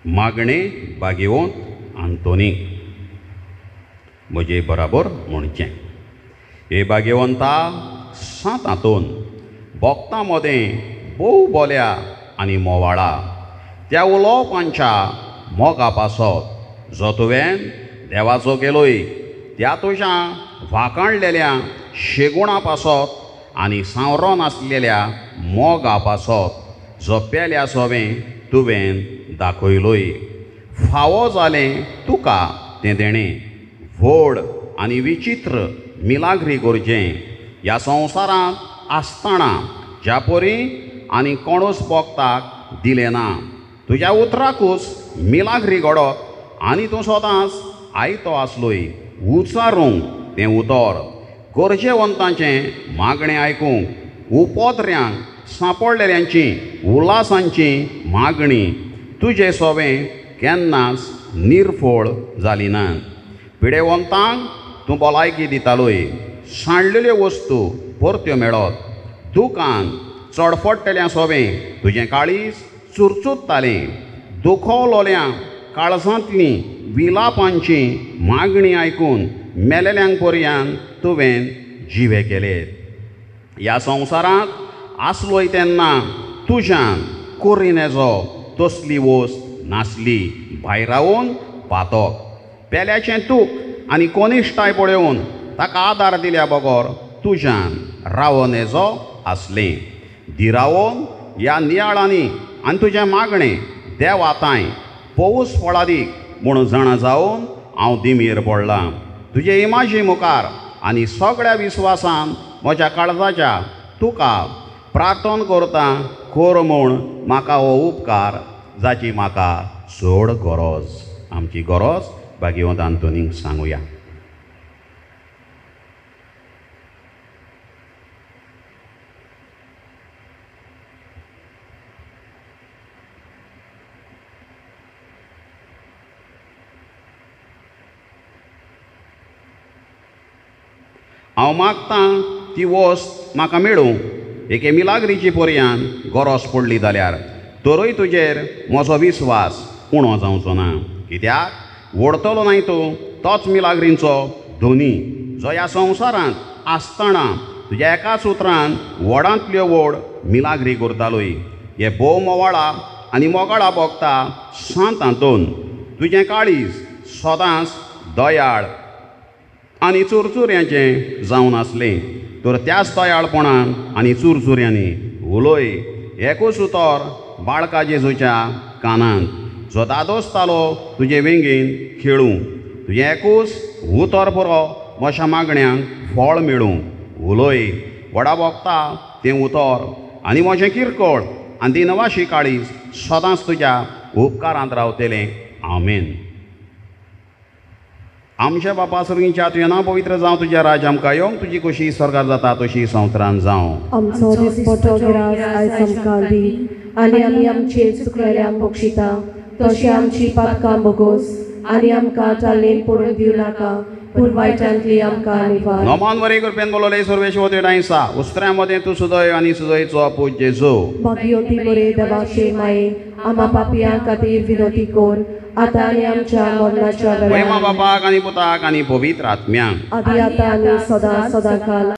मागणें भाग्यवंत आंतोनी म्हजे बराबर म्हणचें. हे भाग्यवंता सांत आंतोन, भक्तां मदें भोव बोल्या आनी मोवाळा त्या उलोवपांच्या मोगा पासत जो तुवें देवाचो केलोय त्या तुज्या वाकाणलेल्या शेगुणा पासत आनी सांवरो नासलेल्या मोगा पासत जो पेल्या सोवें तुवें दाखयलोय. फावो जालें तुका तें देणें व्हड आनी विचित्र मिलाग्री गरजें ह्या संवसारांत आसतना ज्या परी आनी कोणूच भक्ताक दिलें ना. तुज्या उतराकूच मिलाग्री घडत आनी तूं सदांच आयतो आसलोय उचारूंक तें उतर गरजेवंतांचें मागणें आयकूंक उपद्र्यांक सांपडलेल्यांची उल्हासांची मागणी तुजे सोवें केन्नाच निर्फळ जाली ना. पिडेवंतांक तूं भलायकी दितालोय, सांडलेल्यो वस्तू परत्यो मेळत, दुकान चडफडटल्या सोवें तुजें काळीज चुरचुरतालें, दुखवलोल्या काळजांतली विलापांची मागणी आयकून मेलेल्यांक पर्यान तुवें जिवे केले. ह्या संवसारांत आसलोय तेन्ना तुज्यान कोरिनेजो तसली वस्त नासली भायरावन पातक पेल्याचें तूक आनी कोनिश्टाय पळोवन ताका आदार दिल्या बगर तुज्यान रावनेजो आसलें. धिरावन ह्या नियाळांनी आनी तुजें मागणें देवा तांय पोवूस फळादीक म्हूण जाणा जावन हांव दिमीर पडलां. तुजे इमाजी मुखार आनी सगळ्या विस्वासान म्हज्या काळजाच्या तुका प्रार्थन करता कोर म्हूण म्हाका हो उपकार जाची म्हाका चड गरज. आमची गरज भाग्यवंत आंतोनीक सांगुया. हांव मागतां ती वस्त म्हाका मेळूं एके मिलाग्रीची पर्यान गरज पडली जाल्यार तरूय तुजेर म्हजो विस्वास उणो जावचो ना. कित्याक वडतलो न्हय तूं तोच मिलाग्रींचो धनी जो ह्या संवसारांत आसतना तुज्या एकाच उतरान व्हडांतल्यो व्हड मिलाग्री करतालोय. हे भोव मोवाळा आनी मोगाळा भोगता सांत आंतोन, तुजें काळीज सदांच दयाळ आनी चुरचुऱ्यांचें जावन आसलें तर त्याच दयाळपणान आनी चुरचुऱ्यांनी उलय एकूच उतर बाळका जेजूच्या कानांत जो दादोसतालो तुजे वेंगेन खेळूं. तुजें एकूच उतर पुरो म्हज्या मागण्यांक फळ मेळूं. उलय व्हडा भोगता तें उतर आनी म्हजें किरकोळ आनी दिनवाशी काळीज सदांच तुज्या उपकारांत रावतलें. आमेन. आमच्या बापा सर्गीच्या तुजें नांव पवित्र जावं, तुज्या राज्य आमकां येवंक, तुजी खोशी स्वर्गार जाता तशी संवसारांत जावं. आमचो दिसपटो गिरास आयज आमकां दी आनी आमी आमचे चुकलेल्यांक बक्षिता तशें आमची पातकां भोगोस आनी आमकां चालनेन पडून दिवं नाका पूण वायटांतली आमकां निवार. नमान वरी कृपेन बोलवले सर्वेश्वर डांयसा उस्त्र्या मदें तूं सुदय आनी सुदयचो पूत जेजू. भाग्यवंती मरे देवाचे माये आमा पापयां खातीर विनोती कोर आतां आनी आमच्या मरणाच्या वेळार. बापाक आनी पुताक आनी पवित्र आत्म्यांक आदी आतां आनी सदां सदां काल.